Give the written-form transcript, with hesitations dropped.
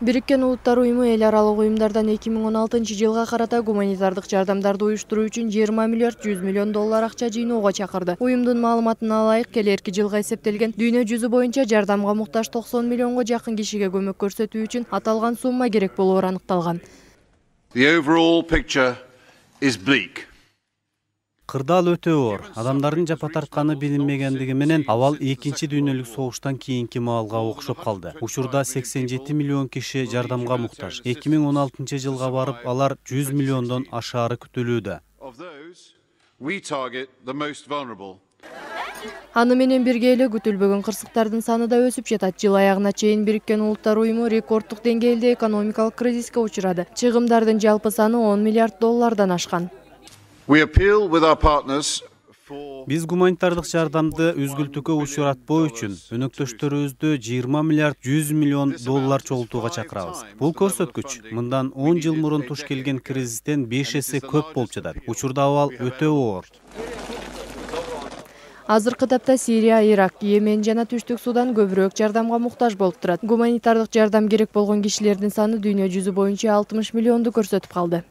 Бириккен Улуттар уюму эл аралык уюмдардан 2016-жылга карата гуманитардык жардамдарды уюштуруу үчүн 20 миллиард 100 миллион доллар акча жыйноого чакырды. Уюмдун маалыматына ылайык, келерки жылга эсептелген дүйнө жүзү боюнча жардамга муктаж 90 миллионго жакын кишиге көмөк көрсөтүү үчүн аталган сумма керек болоору аныкталган. The overall picture is bleak. Кырдаал өтө оор. Адамдардын жапа тартканы билинмегендиги менен абал 2 дүйнөлүк согуштан кийинки маалга окшоп калды. Учурда 87 миллион киши жардамга муктаж. 2016-жылга барып алар 100 миллиондон ашаары күтүлүүдө. Аны менен бирге эле күтүлбөгөн кырсыктардын саны да өсүп жатат. Жыл аягына чейин Бириккен Улуттар уюму рекорддук деңгээлде экономикалык кризиске учурады. Чыгымдардын жалпы саны 10 миллиард доллардан ашкан. Биз гуманитардык жардамды үзгүлтүүгө учуратпоо үчүн өнөктөштөрүбүздү 20 миллиард 100 миллион доллар чогултууга чакырабыз. Бул көрсөткүч мындан 10 жыл мурун туш келген кризистен 5 эсе көп болуп жатат. Учурда абал өтө оор. Азыркы тапта Сирия, Ирак, Йемен жана Түштүк Судан көбүрөөк жардамга муктаж болуп турат. Гуманитардык жардам керек болгон кишилердин саны дүйнө жүзү боюнча 60 миллионду көрсөтүп калды.